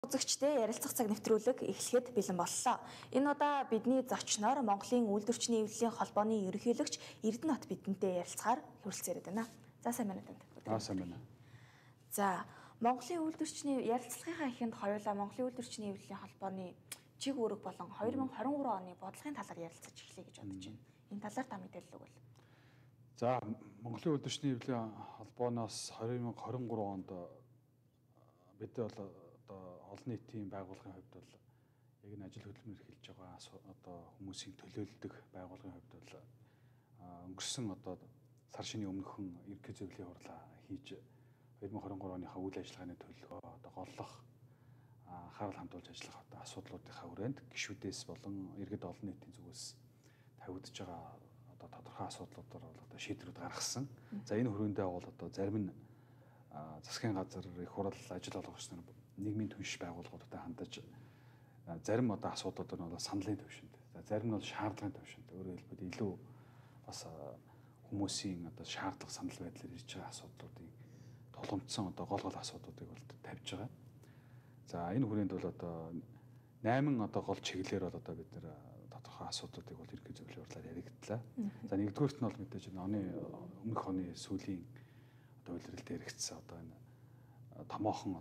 Үзэгчтэй ярилцах цаг нэвтрүүлэг эхлэхэд бэлэн боллоо. Энэ удаа бидний зочноор Монголын үйлдвэрчний эвлэлийн холбооны ерөнхийлөгч Эрдэнэт бидэнтэй ярилцахаар хүрэлцээрээд байна. За сайн байна танд. Сайн байна. За Монголын үйлдвэрчний ярилцлагынхаа эхэнд хоёулаа Монголын үйлдвэрчний эвлэлийн холбооны чиг үүрэг болон 2023 оны бодлогын талаар ярилцаж эхлэе гэж бодож байна. Энэ талаар та мэдээлэл өгвөл. За Монголын үйлдвэрчний эвлэлийн холбооноос 2023 онд бид бол олон нийтийн байгууллагын хувьд бол яг энэ ажил хөдөлмөр эрхэлж байгаа одоо хүмүүсийн төлөөлдөг байгууллагын хувьд бол өнгөрсөн сар шинийн өмнөхөн ерөнхий зөвлөлийн хурлаа хийж 2023 оныхаа үйл ажиллагааны төлөвлөгөө голлох анхаарал хандуулж ажиллах асуудлуудынхаа хүрээнд гишүүдээс болон иргэд олон нийтийн зүгээс тавигдж байгаа тодорхой асуудлуудаар бол шийдвэрүүд гаргасан. За энэ хүрээндээ бол зарим нь засгийн газар их хурал ажил олгогч нар нийгмийн түнш байгууллагуудтай хандаж зарим асуудлууд нь бол саналын төвшөнд. За зарим нь бол шаардлагын төвшөнд. Өөрөөр хэлбэл илүү бас хүмүүсийн шаардлага санал байдлаар ирж байгаа асуудлуудыг тулгымдсан гол асуудлуудыг бол тавьж байгаа. За энэ хүрээнд бол 8 гол чиглэлээр бол бид нэр тодорхой асуудлуудыг бол ерөнхий зөвлөлийн хурлаар яригдлаа. За нэгдүгээрт нь бол мэдээж өмнөх оны сүүлийн үйлрэлд яригдсан энэ томоохон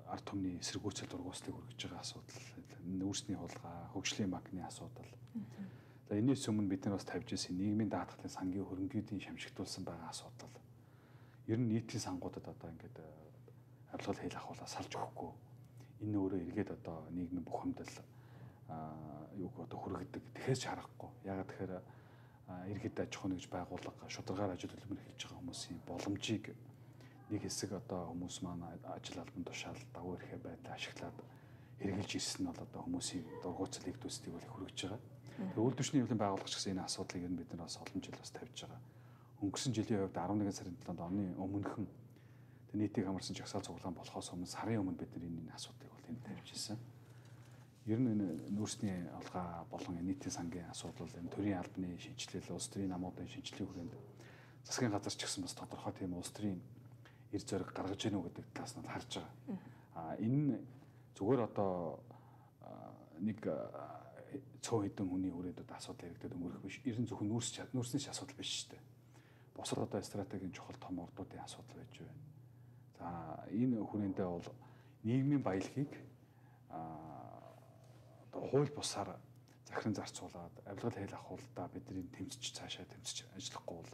ард түмний эсэргүүцэл дургууслыг хүргэж байгаа асуудал, нүүрсний хулгай, хөгжлийн банкны асуудал. За энэс өмнө бид нар бас тавьж ирсэн нийгмийн даатгалын сангийн хөрөнгөний шамшигдуулсан байгаа асуудал. Ер нь нийтийн сангуудад ингээд авилгал хэл ахуулаа салж өгөхгүй. Энэ өөрөө эргээд нийгмийн бухимдал хүргэдэг. Тэгэхээс ч харахгүй. Ягаад тэгэхээр иргэд аж ахуйн нэгж байгууллага шударгаар ажил хөдөлмөр эхэлж байгаа хүмүүсийн боломжийг нэг хэсэг хүмүүс маань ажил албан тушаал дагуу ирэхэ байдлаа ашиглаад хэрэгжилж ирсэн нь бол хүмүүсийн дургуутсал нэгдүүлсдийг бол хүргэж байгаа. Тэр үйлдвэрчний эвлэлийн байгууллагч гэсэн энэ асуудлыг ер нь бид нар бас олон жил бас тавьж байгаа. Өнгөрсөн жилийн хувьд 11 сарын 7-нд оны өмнөхөн нийтийг хамарсан жагсаал цуглаан болохоос өмнө сарын өмнө бид нар энэ асуудлыг бол энд тавьж ирсэн. Ер нь энэ нүүрсний олгоо болон нийтийн сангийн асуудал, энэ төрийн албаны шинжилэл, улс төрийн намуудын шинжилгээ хүрээнд засгийн газар ч гэсэн бас тодорхой тийм улс төрийн эр зориг гаргаж гэнэ үү гэдэг талаас нь харж байгаа. Энэ зүгээр нэг цөөн хэдэн хүний хүрээнд асуудал яригдаад өнгөрөх биш. Ер нь зөвхөн нүүрсний асуудал биш шүү дээ. Босод стратегийн чухал том ордуудын асуудал байж байна. За энэ хүрээндээ бол нийгмийн баялагийг хууль бусаар захиран зарцуулаад авилгал хэл ахуулалтаа бидний тэмцэж цаашаа тэмцэж ажиллахгүй бол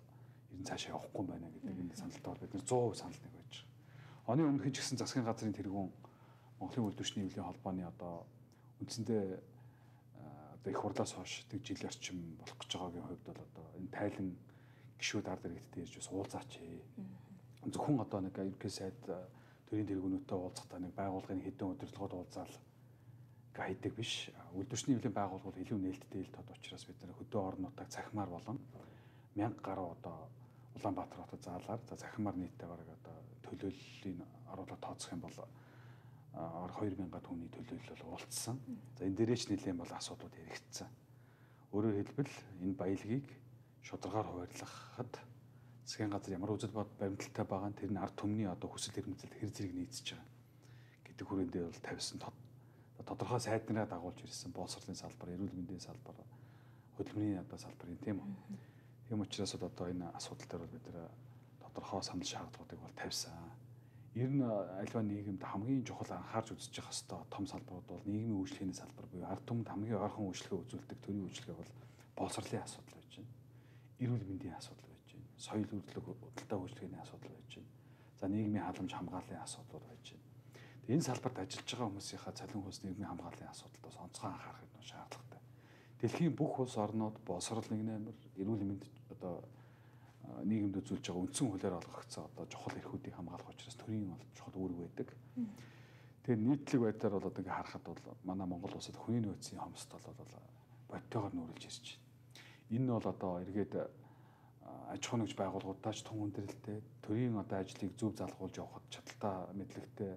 ер нь цаашаа явахгүй байна гэдэг энэ саналтаар бид нар 100% санал нэг байж байгаа. Оны өмнөх ч гэсэн засгийн газрын тэргүүн Монголын үйлдвэрчний эвлэлийн холбооны үндсэндээ их хурлаас хойш тэг жил орчим болох гэж байгаагийн хувьд бол энэ тайлан гишүүд ард иргэдтэй ирж бас уулзаач. Зөвхөн нэг ерөнхий сайд төрийн тэргүүнүүдтэй уулзахдаа нэг байгууллагын хэдэн удирдлагууд уулзаал хайдаг биш. Үйлдвэрчний эвлэлийн байгууллагууд илүү нээлттэй ил тод учраас бид нар хөдөө орнуудаа цахимаар болон 1000 гаруй Улаанбаатар хотод заалаар цахимаар нийтдээ бараг төлөөллийн оруулаад тооцох юм бол 2000 түүний төлөөлөл бол уулцсан. За энэ дээрээч нэлээд бол асуудлууд яригдсан. Өөрөөр хэлбэл энэ баялагийг шударгаар хуваарлахад засгийн газар ямар үзэл бод баримталтай байгаа нь тэр нь ард түмний хүсэл эрмэлзэлд хэр зэрэг нийцэж байгаа гэдэг хүрээндээ бол тавьсан тодорхой сайд нараа дагуулж ирсэн боловсролын салбар, эрүүл мэндийн салбар, хөдөлмөрийн салбарын тийм үү. Тийм учраас энэ асуудал дээр бид нар тодорхой санал шаардлагуудыг бол тавьсан. Ер нь альва нийгэмд хамгийн чухал анхаарч үзэж явах хэвээр том салбарууд бол нийгмийн үйлчлэгээний салбар буюу ард түмэнд хамгийн ойрхон үйлчлэгээ үзүүлдэг төрийн үйлчлэгээ бол боловсролын асуудал байж байна. Эрүүл мэндийн асуудал байж байна. Соёл үрдлэг худалдаа үйлчлэгээний асуудал байж байна. За нийгмийн халамж хамгааллын асуудлууд байж байна. Энэ салбарт ажиллаж байгаа хүмүүсийнхаа цалин хөлс нийгмийн хамгааллын асуудалд бас онцгой анхаарах нь шаардлагатай. Дэлхийн бүх улс орнууд боловсрол нэг нэмэр эрүүл мэнд нийгэмд үзүүлж байгаа үндсэн хуулиар олгогдсон чухал эрхүүдийг хамгаалах учраас төрийн чухал үүрэг байдаг. Тэгээд нийтлэг байдлаар бол ингээ харахад бол манай Монгол улсад хүний нөөцийн хомсд бол бодтойгоор нүүрлж ирж байна. Энэ нь бол эргээд аж ахуйн нэгж байгууллагуудаач тун хүндрэлтэй төрийн ажлыг зөв залгуулж явахд чадaltaа мэдлэгтэй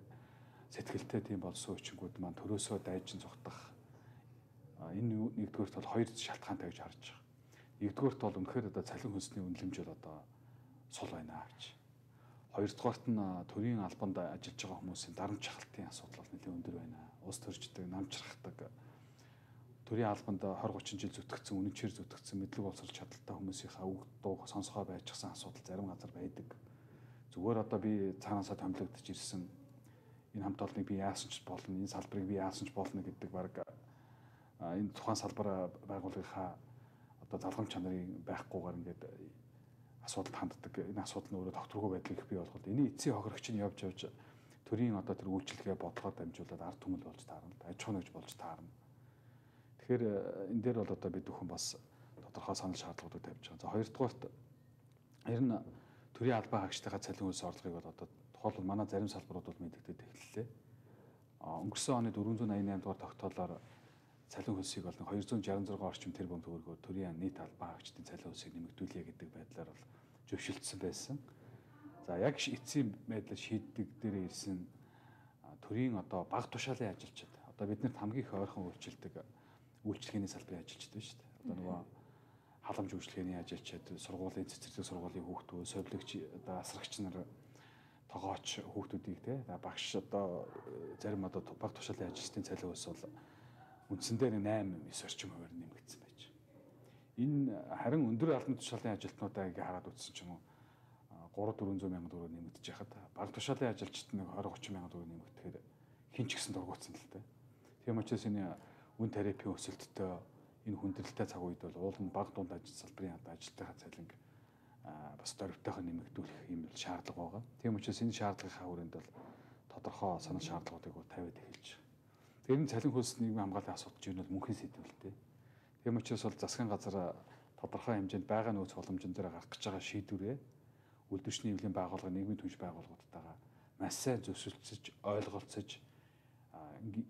сэтгэлтэй тийм болсон хүчингүүд маань төрөөсөө дайжин зүгтах энэ нэгдүгээрт бол хоёр шалтгаантай гэж харж байгаа. Нэгдүгээрт бол үнэхээр цалин хөлсний үнэлэмж бол сул байна гэж. Хоёрдугаарт нь төрийн албанд ажиллаж байгаа хүмүүсийн дарамт шахалтын асуудал бол нэлээд өндөр байна. ус төрждөг, намжрахдаг. Төрийн албанд 20-30 жил зүтгэгдсэн, үнэнчээр зүтгэгдсэн мэдлэг боловсрол чадaltaй хүмүүсийнхаа үг дуу сонсгоо байжсан асуудал зарим газар байдаг. Зүгээр одоо би цаанаасаа томилогдож ирсэн энэ хамт олныг би яасан ч болно, энэ салбарыг би яасан ч болно гэдэг баг энэ тухайн салбар байгууллагынхаа одоо залгамж чанарын байхгүйгээр ингээд асуудалд ханддаг. Энэ асуудал нь өөрөө тогтворгүй байдлыг бий болгоод энэ эцсийн хохирогч нь явж төрийн одоо тэр үйлчлэгээ бодлогоор дамжуулаад ард түмэл болж таарна, аж ахуй нэгж болж таарна. Тэгэхээр энэ дээр бол одоо бид бүхэн бас тодорхой санал шаардлагуудыг тавьж байгаа. За хоёрдугаарт ер нь төрийн албан хаагчдынхаа цалин хөлс орлогыг бол одоо тухайлбал манай зарим салбарууд бол мэдэгдээд эхэллээ. Өнгөрсөн оны 488 дугаар тогтоолоор цалин хөлсийг бол 266 орчим тэрбум төгрөгөөр төрийн нийт албан хаагчдын цалин хөлсийг нэмэгдүүлье гэдэг байдлаар бол зөвшөлдсөн байсан. За яг эцсийн байдлаар шийддэг дээр ирсэн төрийн одоо бага тушаалын ажилчид одоо биднэрт хамгийн их ойрхон үйлчлэгээний салбарын ажилчид байна шүү дээ. Одоо нөгөө халамж үйлчлэгээний ажилчид, сургуулийн цэцэрлэг сургуулийн хүүхдүүд, совилогч одоо асрагч нар, тогооч хүүхдүүдийг те багш одоо зарим одоо бага тушаалын ажилчдын цалин хөлс бол үндсэндээ 8-9 орчим хувиар нэмэгдсэн байж. Энэ харин өндөр албан тушаалын ажилтнуудаа ингээ хараад үзсэн ч юм уу 300-400 мянган төгрөг нэмэгдэж яхад бага тушаалын ажилчид нэг 20-30 мянган төгрөг нэмэгдэхээр хин ч гэсэн дургуутсан л дээ. Тийм учраас энэ үн тарифын өсөлттэй энэ хүндрэлтэй цаг үед бол уул нь бага дунд ажил салбарын ажилтныхаа цалинг бас дөрвтойхоо нэмэгдүүлэх юм шаардлага байгаа. Тийм учраас энэ шаардлагынхаа хүрээнд бол тодорхой санал шаардлагуудыг тавиад эхэлж байгаа. Тэр нь цалин хөлс нийгмийн хамгааллын асуудал чинь бол мөнхийн сэдвэлтэй. Тийм учраас бол засгийн газар тодорхой хэмжээнд байгаа нөөц боломжн дээр гарах гэж байгаа шийдвэрээ үйлдвэрчний эвлэлийн байгууллага, нийгмийн түнш байгууллагуудтайгаа маш сайн зөвшөлдсөж, ойлголцож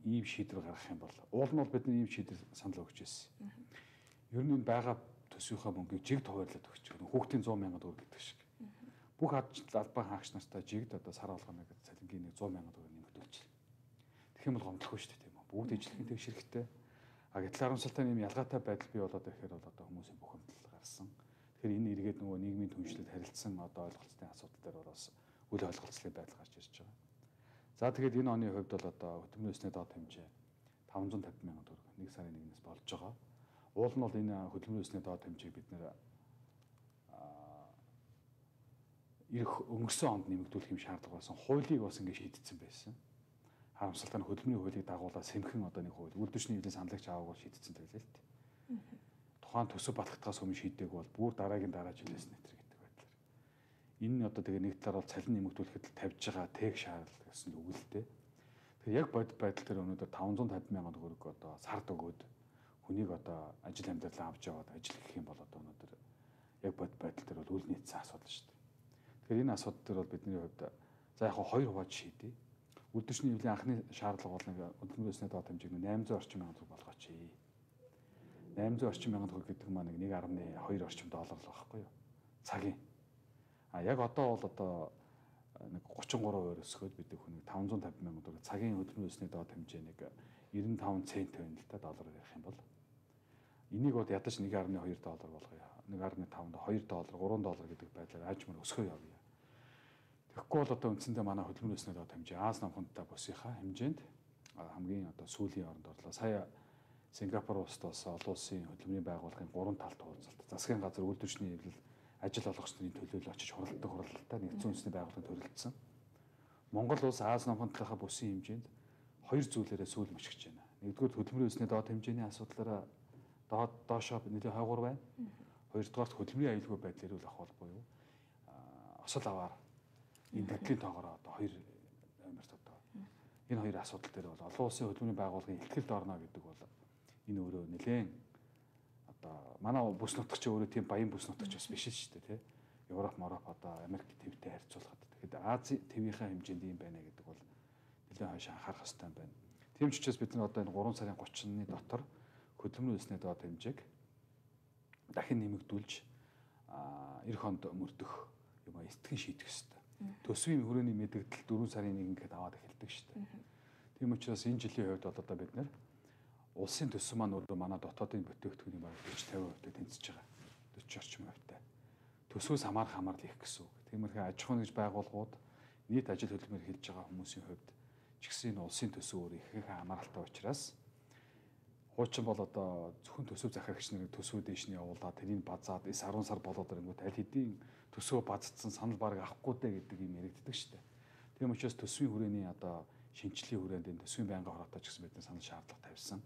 ийм шийдвэр гаргах юм бол уул нь бол бидний ийм шийдвэр санал өгч байсан. Ер нь энэ байгаа төсвийнхаа мөнгийг жигд хуваарлаад өгч байгаа. Хүүхдийн 100 сая төгрөг гэдэг шиг. Бүх албан хаагч нартай жигд одоо сар болгоно гэдэг цалингийн нэг 100 сая төгрөг нэмэгдүүлчихлээ. Тэгэх юм бол гомдлохгүй шүү дээ тийм үү? Бүгд ижлэхэн тэгш хэрэгтэй. Гэтэл харамсалтай юм ялгаатай байдал бий болоод ирэхээр бол одоо хүмүүсийн бүх хэмтэл гарсан. Тэгэхээр энэ эргээд нөгөө нийгмийн түншлэлд харилцсан одоо ойлголцны асуудал дээр бас үл ойлголцлын байдал гарч ирж байгаа. За тэгээд энэ оны хувьд бол одоо хөтөлбөрийн өсний доод хэмжээ 550 мянган төгрөг 1 сарын 1-ээс болж байгаа. Уул нь бол энэ хөтөлбөрийн өсний доод хэмжээг бид нэр өнгөрсөн онд нэмэгдүүлэх юм шаардлага болсон. Хуулийг бас ингэ шийдсэн байсан. Харамсалтай нь хөдөлмөрийн хуулийг дагуулаад сэмхэн одоо нэг хууль үйлдвэрчний эвлэлийн саналагч аваагаар шийдсэн байлээ л дээ. Тухайн төсөв батгахтаас өмнө шийдэг бол бүр дараагийн дараа жилээс нэтэр гэдэг байдлаар. Энэ одоо тэгээ нэг талаар бол цалин нэмэгдүүлэхэд тавьж байгаа тэг шаардлага гэсэн үг л дээ. Тэгэхээр яг бодит байдал дээр өнөөдөр 550 мянган төгрөг одоо сард өгөөд хүнийг одоо ажил амьдралаа авч яваад ажил гэх юм бол одоо өнөөдөр яг бодит байдал дээр бол үл нийцсэн асуудал шүү дээ. Тэгэхээр энэ асуудал дээр бол бидний хувьд за яг хоёр хувааж шийдэе. Үйлдвэрчний эвлэлийн анхны шаардлага бол нэг хөдөлмөрийн өсний доод хэмжээг 800 орчим мянган төгрөг болгооч. 800 орчим мянган төгрөг гэдэг маань 1.2 орчим доллар л байхгүй юу? Цагийн. Яг одоо бол одоо нэг 33% өсгөөд бид хүнийг 550 мянган төгрөг цагийн хөдөлмөрийн өсний доод хэмжээ нэг 95 цент байна л та доллараар ярих юм бол энийг бол ядаж 1.2 доллар болгоё. 1.5-д 2 доллар, 3 доллар гэдэг байдлаар аажмаар өсгөө явъя. Тэгэхгүй бол одоо үндсэндээ манай хөдөлмөрийн өсний доод хэмжээ Аз намхантай бусынхаа хэмжээнд хамгийн одоо сүүлийн оронд орлоо. Сая Сингапур улсад бас олон улсын хөдөлмөрийн байгууллагын 3 талт уулзалт. Засгийн газар үйлдвэрчний эвлэл ажил олгогч нарын төлөөлөл очиж хуралдах хуралдалтаа нэгдсэн үндэсний байгууллагын төрөлдсөн. Монгол улс Аз намхантайхаа бүсийн хэмжээнд хоёр зүйлээрээ сүүл мөчгөж байна. Нэгдүгээр хөдөлмөрийн өсний доод хэмжээний асуудлаараа доошоо нэлээд хойгуур байна. Хоёрдугаар хөдөлмөрийн аюулгүй байдлаар үл ахвал буюу осол аваар энэ төдлийн тоогоор одоо хоёр номерт одоо энэ хоёр асуудал дээр бол олон улсын хөдөлмөрийн байгууллагын ихтгэлд орно гэдэг бол энэ өөрөө нэлээд одоо манай бүс нутагч өөрөө тийм баян бүс нутагч бас биш шүү дээ тий. Европ, одоо Америк твтэй харьцуулахад тэгэхэд Ази твийнхаа хэмжээнд юм байна гэдэг бол нэлээд хойш анхаарах хэрэгтэй байна. Тийм ч учраас бид нар одоо энэ 3 сарын 30-ны дотор хөдөлмөрийн өсний доод хэмжээг дахин нэмэгдүүлж эх хонд мөрдөх юм этгэн шийдэх хэрэгтэй. Төсвийн хүрээний мэдээлэл 4 сарын 1-нд аваад эхэлдэг шүү дээ. Тийм учраас энэ жилийн хувьд бол одоо бид нэр улсын төсөв маань өөрөө манай дотоодын бүтээгдэхүүний бараг 40-50% тэнцэж байгаа. 40 орчим хувьтай. Төсвөөс хамаарал их гэсэн үг. Тиймэрхүү аж ахуй нэгж байгууллагууд нийт ажил хөдөлмөр хийж байгаа хүмүүсийн хувьд ч гэсэн энэ улсын төсөв өөр ихэнх хамааралтай учраас хуучин бол одоо зөвхөн төсөв захирагч нарыг төсвөө дээш нь явуулаад тэрийг базаад 9-10 сар болоод ирэнгүүт аль хэдийн төсөө базцсан санал бараг авахгүй дээ гэдэг юм яригддаг шүү дээ. Тийм учраас төсвийн хүрээний одоо шинжлэлийн хүрээнд энэ төсвийн байнгын хороотой ч гэсэн бидний санал шаардлага тавьсан.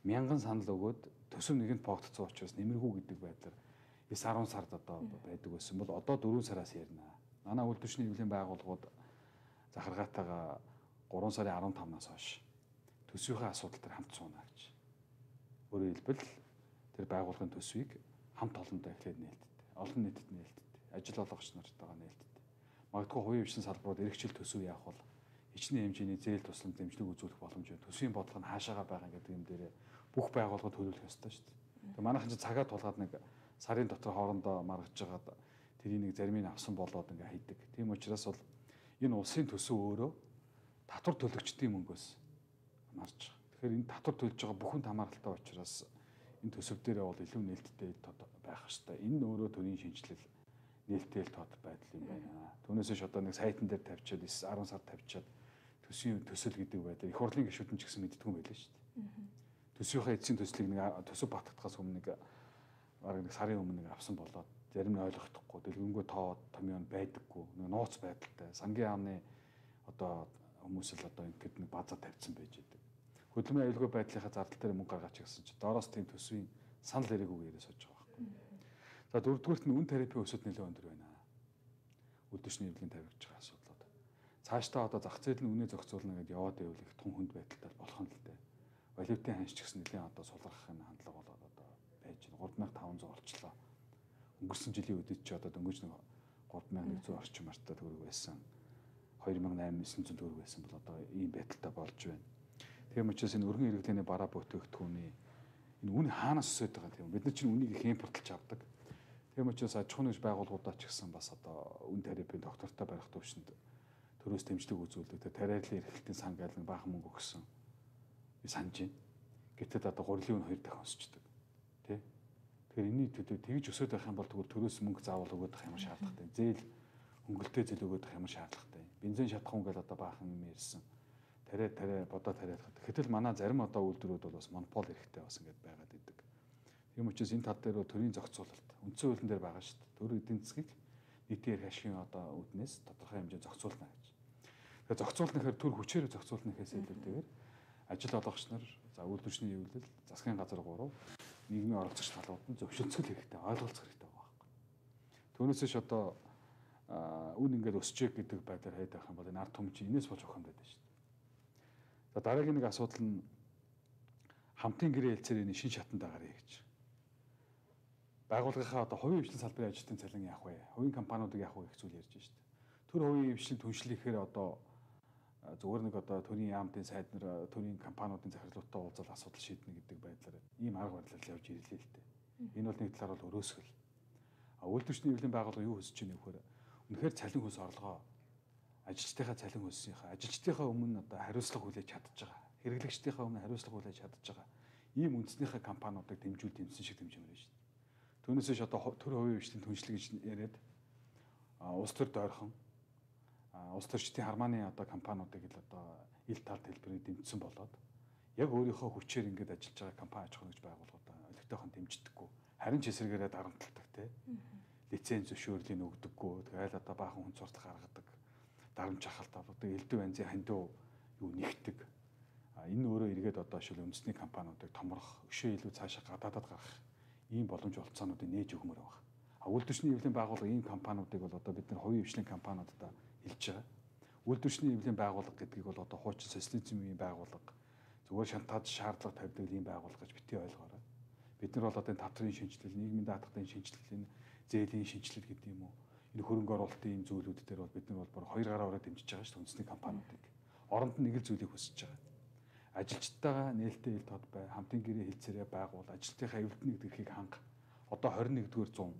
1000 санал өгөөд төсөв нэгэнд поогдсон учраас нэмэргүй гэдэг байдлаар 9-10 сард одоо байдаг байсан бол одоо 4 сараас ярина. Манай үйлдвэрчний эвлэлийн байгууллагууд захиргаатайгаа 3 сарын 15-наас хойш төсвийнхээ асуудал дээр хамт сууна гэж. Өөрөөр хэлбэл тэр байгууллагын төсвийг хамт олондоо эхлээд нээлттэй, олон нийтэд нээлттэй, ажил олгогч нартайгаа нээлттэй. Магадгүй хувийн хвшин салбарууд эргэжил төсөв яах бол хичнээн хэмжээний зээл тусламж дэмжлэг үзүүлэх боломж байна. Төсвийн бодлого нь хаашаага байгаа гэдэг юм дээр бүх байгууллагууд төлөвлөх ёстой шүү дээ. Тэгээ манайхан ч цагаа тулгаад нэг сарын дотор хоорондоо маргаж жагаад тэрийг нэг зарим нь авсан болоод ингээ хийдэг. Тийм учраас бол энэ улсын төсөв өөрөө татвар төлөгчдийн мөнгөөс марж байгаа. Тэгэхээр энэ татвар төлж байгаа бүхэнд хамааралтай учраас энэ төсөв дээрээ бол илүү нээлттэй байх хэрэгтэй. Энэ өөрөө төрийн шинжилэл нээлттэй тод байдал юм байна. Түүнээс ш одоо нэг сайтн дээр тавьчаад 10 сар тавьчаад төсвийн төсөл гэдэг байдлаар их хурлын гишүүдэн ч гэсэн мэддэггүй байлаа шүү дээ. Төсвийнхээ эцсийн төслийг нэг төсөв батгахаас өмнө нэг бараг нэг сарын өмнө нэг авсан болоод зарим нь ойлгохдохгүй дэлгэнгүй тоо томьёон байдаггүй нэг нууц байдалтай сангийн яамны одоо хүмүүс л одоо ингэдэг нэг базаа тавьсан байж байдаг. Хөдөлмөрийн аюулгүй байдлынхаа зардал дээр мөнгө гаргаач гэсэн чинь доороос тийм төсвийн санал хэрэггүйгээр сууж байгаа байхгүй. За дөрөвдүгüрт нь үн тарифын өсөлт нэлээд өндөр байна. Үйлдвэрчний эвлэлийн тавигдж байгаа асуудлууд. Цаашдаа одоо зах зээл нь үнэ зохицуулна гэдээ яваад байвал их тун хүнд байдалтай болох нь л дээ. Валютын ханш ч гэсэн нэлээд одоо сулрахын хандлага болоод одоо байж байна. 3500 орчлоо. Өнгөрсөн жилийн үдид ч одоо дөнгөж нэг 3100 орчим артаа төгрөг байсан. 2800 төгрөг байсан бол одоо ийм байдалтай болж байна. Тийм учраас энэ өргөн иргэдийн бараа бүтээгдэхүүний энэ үн хаанаас өсөж байгаа тийм бид нар чинь үнийг их импортлж авдаг. Тийм учраас аж ахуйн нэгж байгууллагуудаа ч гэсэн бас одоо үн тарифын доктортой барих төвшөнд төрөөс дэмжлэг үзүүлдэг. Тэгээ тариаллын эрхлэлтийн сан гал нэг баахан мөнгө өгсөн. Би санаж байна. Гэтэл одоо гурилын үн 2 дахин өсчдөг. Тэ? Тэгэхээр энэний төдөө тэгж өсөж байх юм бол тэгвэл төрөөс мөнгө заавал өгöd байх юм шаардлагатай. Зээл хөнгөлтэй зээл өгöd байх юм шаардлагатай. Бензин шатахуун гал одоо баахан юм ярьсан. Тариа бодоо тариалах. Гэтэл манай зарим одоо үйлдвэрүүд бол бас монопол хэрэгтэй бас ингэж байгаад идэг. Тийм учраас энэ тал дээр төрийн зохицуулалт үндсэн хуулийн дээр байгаа шүү дээ. Төр эдийн засгийг нийтийн эрх ашигын одоо үүднээс тодорхой хэмжээнд зохицуулна гэж. Тэгэхээр зохицуулна гэхээр төр хүчээр зохицуулна гэхээс илүүтэйгээр ажил олгогч нар, за үйлдвэрчний эвлэл, засгийн газар 3, нийгмийн оролцогч талууд нь зөвшөөрлөх хэрэгтэй, ойлголцох хэрэгтэй байгаа байхгүй. Түүнээсээ ч одоо үн ингээд өсчээг гэдэг байдлаар хайд байх юм бол энэ ард түмэн чинь энэс болж ухаан байдаг шүү дээ. За дараагийн нэг асуудал нь хамтын гэрээ хэлцээрийн шин шатанд агарыг гэж. Байгууллагынхаа одоо хувийн хвшлийн салбарын ажилтны цалин яах вэ? Хувийн компаниудыг яах вэ гэх зүйл ярьж байна шүү дээ. Төр хувийн хвшлийн түншлэхээр одоо зүгээр нэг одоо төрийн яамтын сайд нар төрийн компаниудын захирлуудтай уулзаад асуудал шийднэ гэдэг байдлаар ийм арга барилаар явж ирлээ л дээ. Энэ бол нэг талаар бол өрөөсгөл. Үйлдвэрчний эвлэлийн байгууллага юу хүсэж байна вэ гэхээр үнэхээр цалин хөлс орлогоо ажилчдынхаа цалин хөлсийнхаа ажилчдынхаа өмнө одоо хариуцлага хүлээж чадж байгаа. Хэрэглэгчдийнхаа өмнө хариуцлага хүлээж чадж байгаа. Ийм үндэснийхээ компаниудыг дэмжсэн шиг дэмжмээр байна шүү дээ. Түүнээсээ ч одоо төр хувийн хвшлийн түншлэг гэж яриад улс төр дойрхон улс төрчдийн хармааны одоо компаниудыг л одоо ил тал хэлбэрийг дэмжсэн болоод яг өөрийнхөө хүчээр ингэж ажиллаж байгаа компани аж ахуйн нэгж байгууллагуудаа олигтойхон дэмждэггүй. Харин ч эсрэгээрээ дарамтлагдаг те. Лиценз зөвшөөрлийг өгдөггүй. Тэгэл одоо баахан хүн цуртах гаргадаг. Дарамт шахалт авдаг. Элдв банзын хандив юу нэгтдэг. Энэ өөрөө эргээд одоо шил үндэсний компаниудыг томрох, өшөө илүү цаашаа гадаадад гарах ийм боломж олцоонуудыг нээж өгмөр байна. Үйлдвэрчний эвлэлийн байгууллага ийм компаниудыг бол одоо бид нар хувийн хвшлийн компаниудад хэлж байгаа. Үйлдвэрчний эвлэлийн байгууллага гэдгийг бол одоо хуучин социализмын байгууллага зүгээр шантаж шаардлага тавьдаг ийм байгууллага гэж бити ойлгоорой. Бид нар бол одоо энэ тавтрын шинжилэл, нийгмийн даатгатын шинжилэл, зээлийн шинжилэл гэдэг юм уу? Энэ хөрөнгө оруулалтын ийм зүйлүүд дээр бол бид нар бол баг 2 гараа ороод дэмжиж байгаа шүү дээ үндэсний компаниудыг. Оронд нь нэг л зүйлийг хүсэж байгаа. Ажилчдтайгаа нээлттэй ил тод бай, хамтын гэрээ хэлцээрээ байгуул, ажилтныхаа эвлэлтний эрхийг ханга. Одоо 21-р 100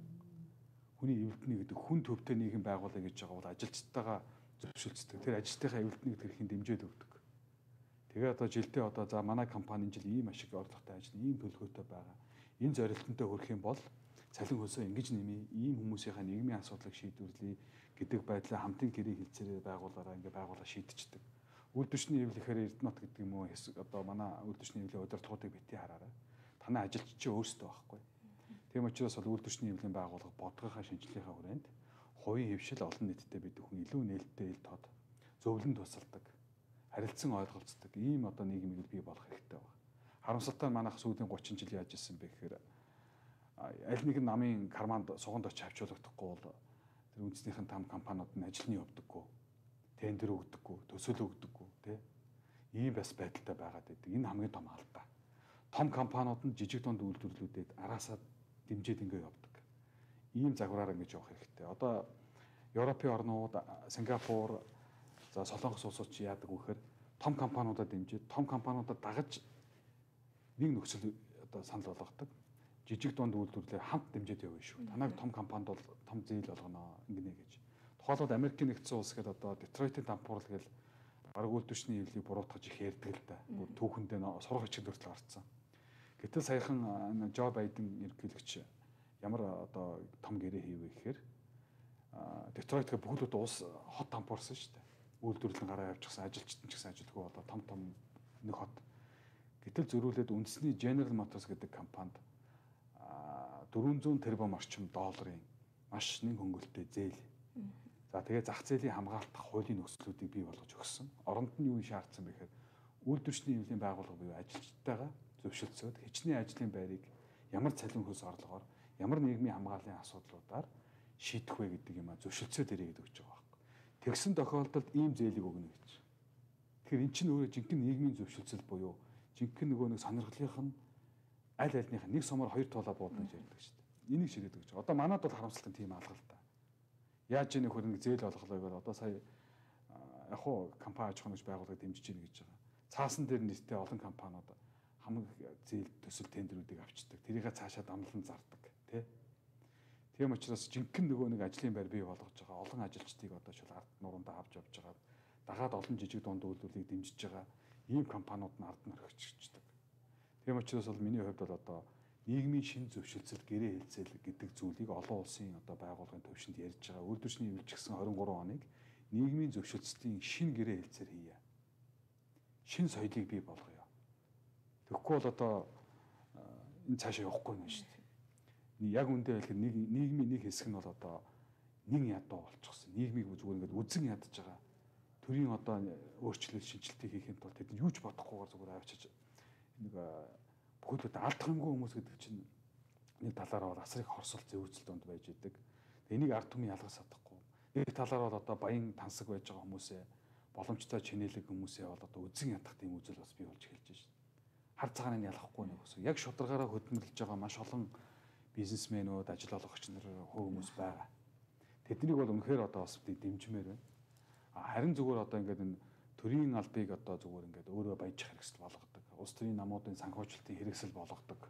хүний эвлэлтний гэдэг хүн төвтэй нийгэм байгуулъя гэж байгаа бол ажилчдтайгаа зөвшөлдсөн. Тэр ажилтныхаа эвлэлтний эрхийг дэмжиж өгдөг. Тэгээ одоо жилдээ одоо за манай компани энэ жил ийм ашиг орлоготой ажил, ийм төлөвлөгөөтэй байгаа. Энэ зорилтонтой хүрэх юм бол цалин хөлсөө ингэж нэмье, ийм хүмүүсийнхаа нийгмийн асуудлыг шийдвэрлэе гэдэг байдлаа хамтын гэрээ хэлцээрээ байгуулаараа ингээ байгуулаа шийдчихдэг. Үйлдвэрчний хэвлэл ихээр Эрдэнэт гэдэг юм уу одоо манай үйлдвэрчний хэвлэлийн удирдлагуудыг бити хараарай. Танай ажилч чи өөрсдөө байхгүй. Тийм учраас бол үйлдвэрчний хэвлэлийн байгууллага бодгохоо шинжилгээхээ хүрээнд хувийн хэвшил олон нийтэд бид хүн илүү нээлттэй ил тод зөвлөн тусалдаг, харилцан ойлголцдог ийм одоо нийгмийг бий болох хэрэгтэй байна. Харамсалтай манайх сүүлийн 30 жил яаж ирсэн бэ гэхээр аль нэгэн намын карманд суганд очиж авчуулагдахгүй бол тэр үндэснийхэн там компаниуд нь ажилны явдаггүй, тендер өгдөггүй, төсөл өгдөггүй тий. Ийм бас байдалтай байгаад байдаг. Энэ хамгийн том алдаа. Том компаниуд нь жижиг дунд үйлдвэрлэлүүдэд араасаа дэмжиж ингэ явдаг. Ийм загвараар ингэж явах хэрэгтэй. Одоо Европын орнууд, Сингапур, за Солонгос улсууд чи яадаг вэ гэхээр том компаниудад дэмжиж, том компаниудад дагаж нэг нөхцөл одоо санал болгодог. Жижиг дунд үйлдвэрлэлээр хамт дэмжиж явна шүү. Танайг том компанид бол том зээл болгоно ингэнэ гэж. Тухайлбал Америкийн нэгдсэн улс гэдэг одоо Детройтын дампуурл гэж бараг үйлдвэрчний хэвлэлийг буруутгаж их ярьдаг л да. Түүхэндээ сурах хичээл хүртэл гарцсан. Гэтэл саяхан Жо Байден ерөнхийлөгч ямар одоо том гэрээ хийвэ гэхээр Детройт гэх бүгд улс хот дампуурсан шүү дээ. Үйлдвэрлэл гараа явчихсан, ажилчид ч гэсэн ажилтгүй болоо том нэг хот. Гэтэл зөрүүлээд үндэсний General Motors гэдэг компанид 400 тэрбум орчим долларын маш нэг хөнгөлөлттэй зээл. За тэгээ зах зээлийн хамгаалах хуулийн нөхцлүүдийг бий болгож өгсөн. Оронд нь юу шаардсан бэ гэхээр үйлдвэрчний хэвлэлийн байгууллага буюу ажилчдтайгаа зөвшөлдсөд хичнээн ажлын байрыг ямар цалин хөлс орлогоор ямар нийгмийн хамгааллын асуудлуудаар шийдэх вэ гэдэг юм а зөвшөлдсөд ирээд өгч байгаа байхгүй. Тэгсэн тохиолдолд ийм зээлийг өгнө гэж. Тэгэхээр эн чинь өөрөө жинхэнэ нийгмийн зөвшөлдсөл буюу жинхэнэ нөгөө нэг сонирхлынх нь аль альных нэг сумаар хоёр туулаа буудна гэж ярьдаг шүү дээ. Энийг шийдээд өгч байгаа. Одоо манад бол харамсалтай тийм алгалтай. Яаж нэг хөрөнгө зээл олголоо гэвэл одоо сая яг хуу компани аж ахуйн гэж байгууллагыг дэмжиж гин гэж байгаа. Цаасан дээр нийтдээ олон компаниуд хамаг зээл төсөл тендерүүдийг авчдаг. Тэрийгээ цаашаа дамлан зардаг, тий. Тийм учраас жинхэнэ нөгөө нэг ажлын байр бий болгож байгаа олон ажилчдыг одоо шил ард нуруундаа авч явж байгаа. Дагаад олон жижиг дунд үйлдвэрлэлийг дэмжиж байгаа ийм компаниуд нь ард нь орхичдаг. Тийм учраас бол миний хувьд бол одоо нийгмийн шин зөвшөлтсөл гэрээ хэлцэл гэдэг зүйлийг олон улсын одоо байгууллагын төвшөнд ярьж байгаа. Үйлдвэрчний хэвлэл гэсэн 23 оныг нийгмийн зөвшөлтсөлийн шин гэрээ хэлцээр хийе. Шин соёлыг бий болгоё. Тэгэхгүй бол одоо энэ цаашаа явахгүй юм шүү дээ. Яг үндэ хэлэхэд нийгмийн нэг хэсэг нь бол одоо нэг ядуу болчихсон. Нийгмийг зүгээр ингээд үзэн ядаж байгаа. Төрийн одоо өөрчлөлт шинжилтийг хийхэд бол тэд юу ч бодохгүйгээр зүгээр авчиж нэг бүхэл бүтэн алдах юмгүй хүмүүс гэдэг чинь нэг талаараа бол асрыг хорсол зөөцөл донд байж идэг. Энийг ард түмэн ялгаж чадахгүй. Нэг талаараа бол одоо баян тансаг байж байгаа хүмүүсээ боломжтой чинэлэг хүмүүсээ бол одоо үзэн ядах тийм үзэл бас бий болж эхэлж байна. Хар цагааныг ялахгүй нэг ус. Яг шударгаараа хөдөлмөрлөж байгаа маш олон бизнесмэнүүд, ажил олгогч нар хүмүүс байгаа. Тэднийг бол үнэхээр одоо бас дэмжмээр байна. Харин зүгээр одоо ингээд энэ төрийн албыг одоо зүгээр ингээд өөрөө баяжих хэрэгсэл болгодог. Улс төрийн намуудын санхүүжилтийн хэрэгсэл болгодог.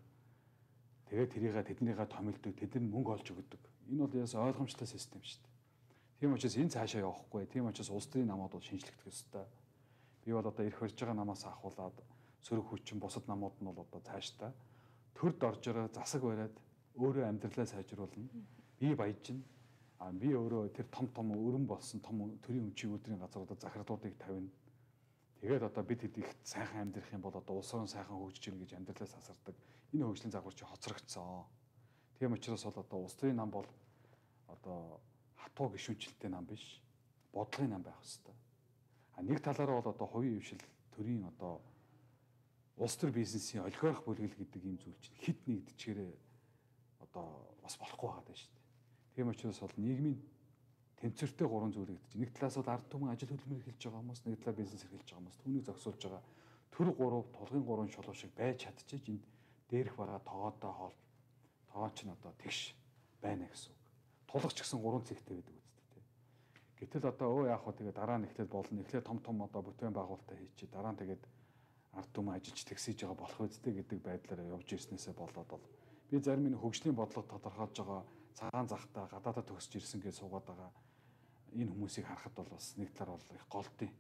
Тэгээд тэрийгээ тэднийгээ томилдог, тэдэнд мөнгө олж өгдөг. Энэ бол яас ойлгомжтой систем шүү дээ. Тийм учраас энэ цаашаа явахгүй. Тийм учраас улс төрийн намууд бол шинжлэхдэх ёстой. Би бол одоо ирэх барьж байгаа намаас ахуулаад сөрөг хүчин бусад намууд нь бол одоо цаашдаа төрд орж байгаа засаг бариад өөрөө амьдралаа сайжруулна. Би баяжна. Би өөрөө тэр том өрн болсон том төрийн өмчийн өдрийн газруудад захирлуудыг тавина. Тэгээд одоо бид хэд их сайхан амьдрах юм бол одоо улс орон сайхан хөгжиж ирнэ гэж амьдралаас асардаг. Энэ хөгжлийн загвар чи хоцрогдсон. Тийм учраас бол одоо улс төрийн нам бол одоо хатуу гишүүнчлэлтэй нам биш. Бодлогын нам байх хэрэгтэй. Нэг талаараа бол одоо хувийн хвшил төрийн одоо улс төр бизнесийн олигарх бүлгэл гэдэг ийм зүйл чинь хит нэгдэчгээрээ одоо бас болохгүй байгаа даа шүү дээ. Тийм учраас бол нийгмийн тэнцвэртэй гурван зүйл гэдэг чинь нэг талаас бол ард түмэн ажил хөдөлмөр эхэлж байгаа хүмүүс, нэг талаар бизнес эхэлж байгаа хүмүүс түүнийг зогсоолж байгаа төр гурав тулгын гурван шулуу шиг байж чадчих энд дээрх бараа тоогоотой хоол тоон ч н одоо тэгш байна гэсэн үг. Тулгач гэсэн гурван цэгтэй байдаг үстэй. Гэтэл одоо яах вэ тэгээ дараа нь эхлээд болно. Эхлээд том одоо бүтээн байгуулалтаа хийчих. Дараа нь тэгээд ард түмэн ажиллаж тэгсэж байгаа болох үстэй гэдэг байдлаараа явж ирснээсээ болоод бол би зарим нэг хөгжлийн бодлого тодорхойлж байгаа цагаан захтаа гадаадад төгсөж ирсэн гэж суугаад байгаа энэ хүмүүсийг харахад бол бас нэг талаар бол их голдیں۔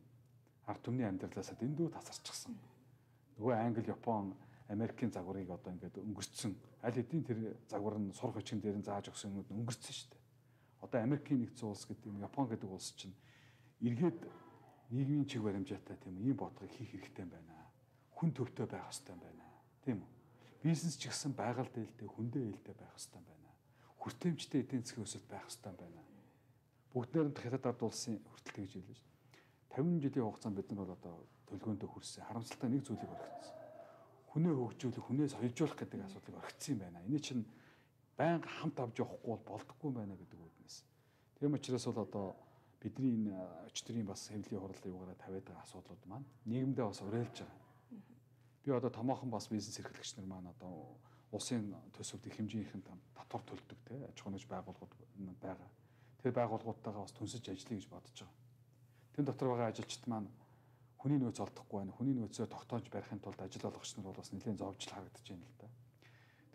Ард түмний амьдралаасаа дэндүү тасарчихсан. Нөгөө Англи, Япон, Америкийн загварыг одоо ингээд өнгөрцсөн. Аль хэдийн тэр загвар нь сурах хүчин дээр нь зааж өгсөн юмуд өнгөрцсөн шүү дээ. Одоо Америкийн нэгдсэн улс гэдэг, Япон гэдэг улс чинь эргээд нийгмийн чиг баримжаатай тийм ийм бодлогыг хийх хэрэгтэй байна. Хүн төвтэй байх хэрэгтэй байна. Тийм үү? Бизнес ч гэсэн байгаль дээлтэй, хүндээ ээлтэй байх хэрэгтэй байна. Хүртээмжтэй эдийн засгийн өсөлт байх хэрэгтэй байна. Бүгд найрамдах хятад ард улсын хүртэл тэгж хэлсэн шүү дээ. 50 жилийн хугацаанд бид нар бол одоо төлгөөндөө хүрсэн. Харамсалтай нэг зүйлийг орхицсан. Хүнээ хөгжүүлэх, хүнээс хойжуулах гэдэг асуудлыг орхицсан юм байна. Энэ чинь байнга хамт авч явахгүй бол болдоггүй байна гэдэг үгнээс. Тийм учраас бол одоо бидний энэ өчтөрийн бас хэвлэлийн хурлын югаараа тавиад байгаа асуудлууд маань нийгэмдээ бас уриалж байгаа. Би одоо томоохон бас бизнес эрхлэгч нар маань одоо улсын төсөвд их хэмжээний татвар төлдөг те аж ахуйн байгууллагууд байгаа. Тэр байгууллагуудтайгаа бас түнсэж ажиллая гэж бодож байгаа. Тэн дотор байгаа ажилчид маань хүний нөөц олдохгүй байна. Хүний нөөцөө тогтоож барихын тулд ажил олгогч нар бол бас нэлээд зовжл харагдаж байна л да.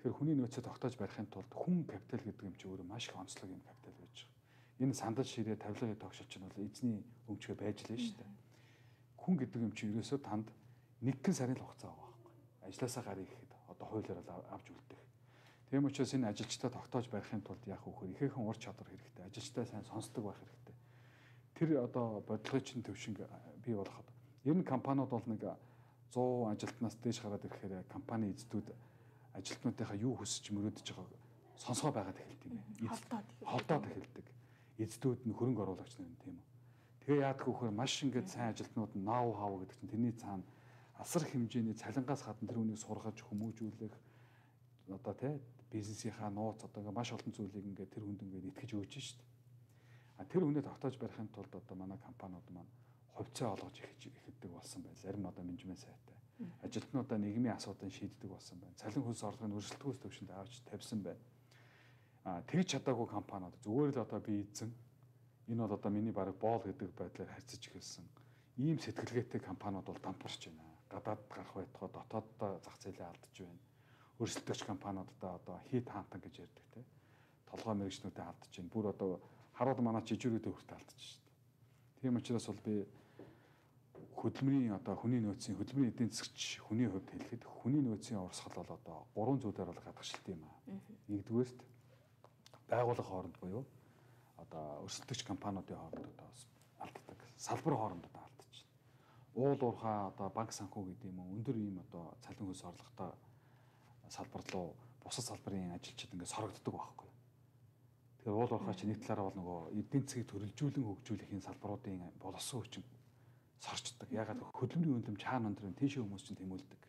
Тэгэхээр хүний нөөцөө тогтоож барихын тулд хүн капитал гэдэг юм чи өөрөө маш их онцлог юм капитал байж байгаа. Энэ сандал ширээ тавилгын тогшилч нь бол эзний өмчгөө байж лээ шүү дээ. Хүн гэдэг юм чи ерөөсөө танд нэгэн сарын л хугацаа байгаа байхгүй. Ажлаасаа гарыг ихэд одоо хуулиар авч үлдэх. Тийм учраас энэ ажилчдаа тогтоож барихын тулд яах вэ гэхээр ихээхэн ур чадвар хэрэгтэй. Ажилчдаа сайн сонсдог байх хэрэгтэй. Тэр одоо бодлогын чинь төвшинг бий болгоход ер нь компаниуд бол нэг 100 ажилтнаас дээш гараад ирэхээр компани эзэдүүд ажилтнуудынхаа юу хүсэж мөрөөдөж байгааг сонсгоо байгаад эхэлдэг юм байна. Холдоод эхэлдэг. Эзэдүүд нь хөрөнгө оруулагч нар юм тийм үү. Тэгээ яадаг вэ гэхээр маш ингээд сайн ажилтнууд нь ноу хав гэдэг чинь тэрний цаана асар хэмжээний цалингаас гадна тэр үнийг сургаж хүмүүжүүлэх одоо тий бизнесийнхаа нууц одоо ингээд маш олон зүйлийг ингээд тэр хүнд ингээд итгэж өгч шít. А тэр хүнээ тогтоож барихын тулд одоо манай компаниуд маань хувьцаа олгож эхэлдэг болсон байна. Зарим одоо менежмент сайтай. Ажилтнуудаа нийгмийн асуудал шийддэг болсон байна. Цалин хөлс орлогын өрсөлдөхөөс төвшөнд авч тавьсан байна. Тэгж чадаагүй компаниуд зүгээр л одоо би эзэн энэ бол одоо миний баг боол гэдэг байдлаар харьцаж эхэлсэн. Ийм сэтгэлгээтэй компаниуд бол дампуурч байна. Гадаад гарах байтугай дотооддоо зах зээлээ алдаж байна. Өрсөлдөгч компаниудаа одоо хийд хаантан гэж ярьдаг те. Толгой мэрэгчнүүдэд алдаж байна. Бүр одоо харууд манай жижигрүүдэд хүртэл алдаж шүү дээ. Тийм учраас бол би хөдөлмөрийн одоо хүний нөөцийн хөдөлмөрийн эдийн засгч хүний хувьд хэлэхэд хүний нөөцийн урсгал бол одоо 3 зүйлээр бол гадагшилт юм аа. Нэгдүгээрт байгууллага хооронд буюу одоо өрсөлдөгч компаниудын хооронд одоо алддаг. Салбар хооронд одоо алдаж байна. Уул уурхай одоо банк санхүү гэдэг юм уу өндөр ийм одоо цалин хөлс орлоготой салбар руу бусад салбарын ажилчид ингээд сорогддог байхгүй. Тэгэхээр уул уурхай чи нэг талаараа бол нөгөө эдийн засгийг төрөлжүүлэн хөгжүүлэх энэ салбаруудын боловсон хүчин сорчдаг. Ягаад хөдөлмөрийн үнэлэмж чаана өндөр тийшээ хүмүүс чинь тэмүүлдэг.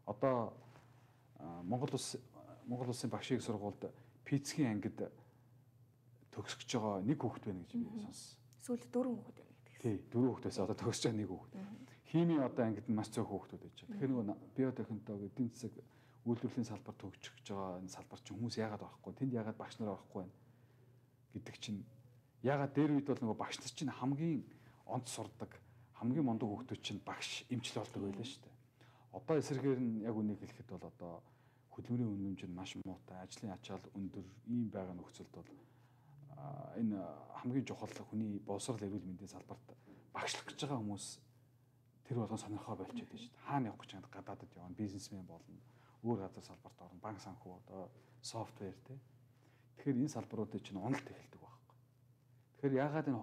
Одоо Монгол улсын багш их сургуульд физикийн ангид төгсөж байгаа нэг хүүхэд байна гэж би сонссон. Сүүлд 4 хүүхэд байна гэдэг. Тий, 4 хүүхдээс одоо төгсөж байгаа нэг хүүхэд. Химийн одоо ангид нь маш цөөх хүүхдүүд байж байгаа. Тэгэхээр нөгөө биотехнологи эдийн засаг үйлдвэрлэлийн салбар төгсөж байгаа энэ салбар чинь хүмүүс яагаад орохгүй? Тэнд яагаад багш нар орохгүй байна гэдэг чинь яагаад дээр үед бол нөгөө багш нар чинь хамгийн онц сурдаг, хамгийн мундаг хүүхдүүд чинь багш эмчил болдог байлаа шүү дээ. Одоо эсрэгээр нь яг үнийг хэлэхэд бол одоо хөдөлмөрийн үнэмж нь маш муутай, ажлын ачаал өндөр ийм байгаа нөхцөлд бол энэ хамгийн чухал хүний боловсрол эрүүл мэндийн салбарт багшлах гэж байгаа хүмүүс тэр болгон сонирхоо болчиход байна шүү дээ. Хаана явах гэж байгаа гадаадд явна, бизнесмен болно, өөр газар салбарт орно, банк санхүү одоо софтвер тий. Тэгэхээр энэ салбаруудыг чинь уналт эхэлдэг байхгүй. Тэгэхээр яагаад энэ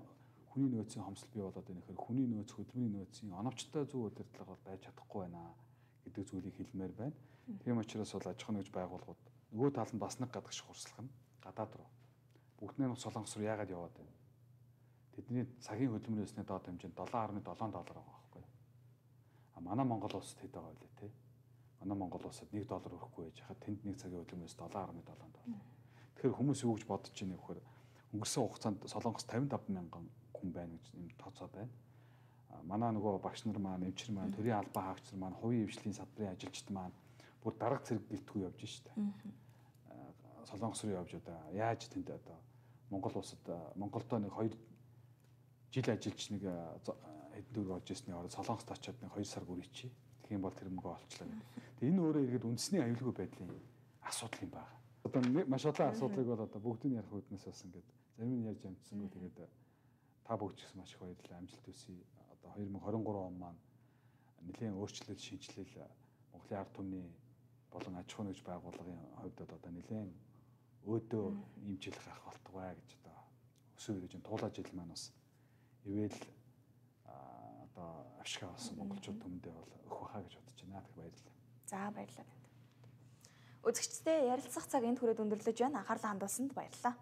хүний нөөцийн хомсол бий болоод байна гэхээр хүний нөөц, хөдөлмөрийн нөөцийн оновчтой зөв удирдлага бол байж чадахгүй байна гэдэг зүйлийг хэлмээр байна. Тийм учраас бол аж ахуйн нэгж байгууллагууд нөгөө талд бас нэг гадагш хурцлах нь гадаад руу. Бүгд нэг Солонгос руу яагаад яваад байна? Тэдний цагийн хөдөлмөрөөсний доод хэмжээ нь $7.7 байгаа байхгүй юу? А манай Монгол улсад хэд байгаа вэ те? Манай Монгол улсад $1 өрөхгүй байж хахад тэнд нэг цагийн хөдөлмөрөөс $7.7. Тэгэхээр хүмүүс юу гэж бодож байна вэ гэхээр өнгөрсөн хугацаанд Солонгос 55 мянган хүн байна гэж юм тооцоо байна. Манай нөгөө багш нар маань, эмчир маань, төрийн албан хаагч нар маань, хувийн эвслийн салбарын ажилчид маань бүр дарга зэрэг гэлтгүй явж штэ. Солонгос руу явж одоо яаж тэнд одоо Монгол улсад Монголдоо нэг 2 жил ажиллаж нэг хэдэн төгрөг олж ирсний орой Солонгост очиод нэг 2 сар гүрийчи. Тэгэх юм бол тэр мөнгө олчлаа гэдэг. Тэгээ энэ өөрөө иргэд үндэсний аюулгүй байдлын асуудал юм байна. Одоо маш олон асуудлыг бол одоо бүгдийг ярих үднээс бас ингээд зарим нь ярьж амжсангүй тэгээд та бүгд ч гэсэн маш их баярлалаа. Амжилт хүсье. Одоо 2023 он маань нэлээд өөрчлөлт шинжилэл Монголын ард түмний болон аж ахуйн нэгж байгууллагын хувьд одоо нэлээд өөдөө ийм жил гарах болтугай гэж одоо өсөө ирэж туулаа жил маань бас ивэл одоо авшиг авсан монголчууд түмэндээ бол өгөх байхаа гэж бодож байна. Тэг баярлалаа. За баярлалаа. Үзэгчдээ ярилцах цаг энд хүрээд өндөрлөж байна. Анхаарлаа хандуулсанд баярлалаа.